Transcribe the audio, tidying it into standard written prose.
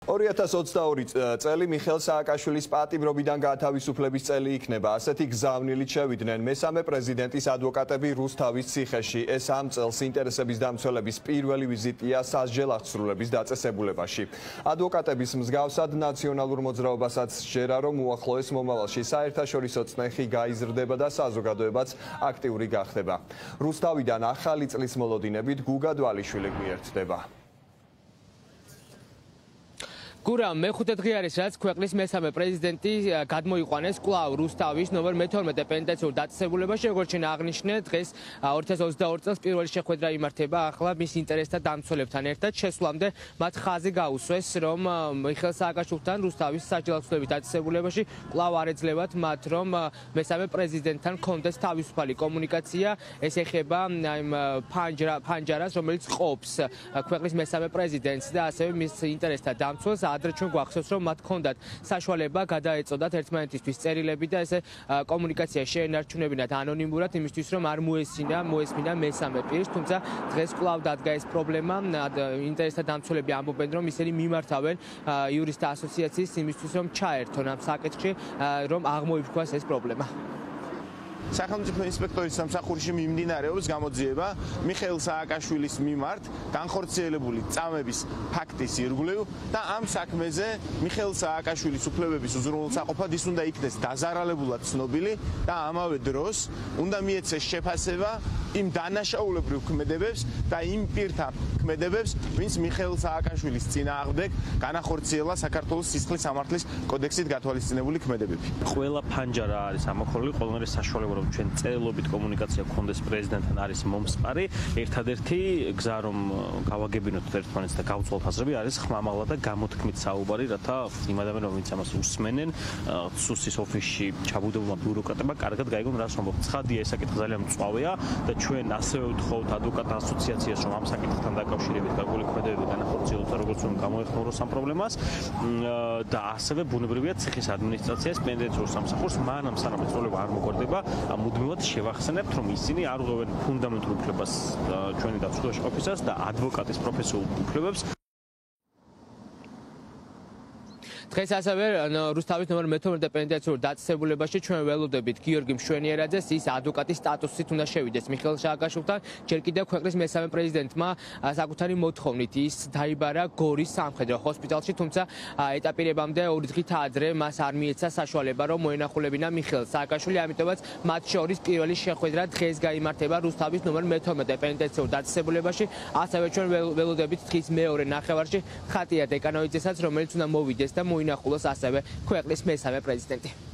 2022 წელი მიხეილ სააკაშვილის პატიმრობიდან გათავისუფლების წელი იქნება. ასეთი გზავნილით შევიდნენ მესამე პრეზიდენტის ადვოკატები რუსთავის ციხეში. ეს ამ წელს ინტერესების დამცველების პირველი ვიზიტია სასჯელ აღსრულების დაწესებულებაში. ადვოკატების მსგავსად ნაციონალურ მოძრაობასაც სჯერა, რომ უახლოეს მომავალში საერთაშორისო წნეხი გაიზრდება და საზოგადოებაც აქტიური გახდება. რუსთავიდან ახალი წლის მოლოდინებით გუგა დვალიშვილი გვიერთდება. გურამ მეხუთე დღე არის რაც ქვეყნის მესამე პრეზიდენტი გადმოიყვანეს კვლავ რუსთავის ნომერ მე-12 პენიტენციურ დაწესებულებაში. როგორც ჩვენ აღნიშნეთ, დღეს 2022 წელს პირველი შეხვედრა იმართება ახლა მის ინტერესთა დამცველებთან ერთად. შესვლამდე მათ ხაზი გაუსვეს, რომ მიხეილ სააკაშვილთან რუსთავის სასჯელ აღსრულების დაწესებულებაში კვლავ არ ეძლებათ მათ, რომ მესამე პრეზიდენტთან კონდეს თავისუფალი კომუნიკაცია. ეს ეხება იმ ფანჯარას, რომელიც ყოფს ქვეყნის მესამე პრეზიდენტს და ასევე მის ინტერესთა დამცველს. ადრე ჩვენ გვახსოვს, რომ მათ ჰქონდათ საშუალება გადაეწოდათ ერთმანეთისთვის წერილები და ესე კომუნიკაცია შეენარჩუნებინათ ანონიმურად, იმისთვის რომ არ მოესმინა მესამე პირს, თუმცა დღეს კვლავ დადგა ეს პრობლემა. ინტერესთა დამცველები ამბობენ, რომ ისინი მიმართავენ იურისტთა ასოციაციის იმისთვის, რომ ჩაერთონ ამ საკითხში, რომ აღმოიფრქვას ეს პრობლემა. სახელმწიფო ინსპექტორის სამსახურში მიმდინარეობს გამოძიება მიხეილ სააკაშვილის მიმართ განხორციელებული წამების ფაქტის ირგვლივ და ამ საქმეზე მიხეილ სააკაშვილის უფლებების უზრუნველსაყოფად ის უნდა იქნეს დაზარალებულად ცნობილი და ამავე დროს უნდა მიეცეს შეფასება იმ დანაშაულებრივ ქმედებებს და იმ პირთა ქმედებებს, ვინც მიხეილ სააკაშვილის წინააღმდეგ განახორციელა საქართველოს სისხლის სამართლის კოდექსით გათვალისწინებული ქმედებები. ყველა ფანჯარა არის ამოქოლილი, ყველანაირი საშუალება რომ ჩვენ წერილობით კომუნიკაცია გქონდეს პრეზიდენტთან არის მომსწარი. ერთადერთი გზა რომ გავაგებინოთ ერთმანეთს და გავწვალთ აზრები არის ხმამაღლა და გამოთქმით საუბარი, რათა იმ ადამიანებმა ვინც ამას უსმენენ, სუსის ოფისში ჩაბუდებულმა ბიუროკრატებმა კარგად გაიგონ რას ვამბობთ. ცხადია, ეს საკითხი ძალიან მწვავეა და ჩვენ ასევე ვთხოვთ ადვოკატთა ასოციაციას, რომ ამ საკითხთან დაკავშირებით გარკვეული ქმედებები განახორციელოს და როგორც რომ გამოეხმაროს ამ პრობლემას და ასევე ბუნებრივია ციხის ადმინისტრაციას პენიტენციურ სამსახურს მანამ სანამ ეს პრობლემა არ მოგვარდება მუდმივად შევახსენებთ, რომ ისინი არ ღვევენ ფუნდამენტურ უფლებას ჩვენი დაცვაში ყოფისას და ადვოკატის პროფესიულ უფლებებს. დღეს ასევე რუსთავის ნომერ მე-12 პენიტენციურ დაწესებულებაში ჩვენ ველოდებით გიორგი მშვენიერაძეს, ის ადვოკატის სტატუსით უნდა შევიდეს მიხეილ სააკაშვილთან. ჯერ კიდევ ქვეყნის მესამე პრეზიდენტმა საკუთარი მოთხოვნით ის დაიბარა გორის სამხედრო ჰოსპიტალში, თუმცა ეტაპირებამდე 2 დღით ადრე მას არ მიეცა საშუალება, რომ მოენახულებინა მიხეილ სააკაშვილი, ამიტომაც მათ შორის პირველი შეხვედრა დღეს გაიმართება რუსთავის ნომერ მე-12 პენიტენციურ დაწესებულებაში. ასევე ჩვენ ველოდებით დღის მეორე ნახევარში ხატია დეკანოვიძესაც, რომელიც უნდა მოვიდეს და მოინახულოს ასევე ქვეყნის მესამე პრეზიდენტი.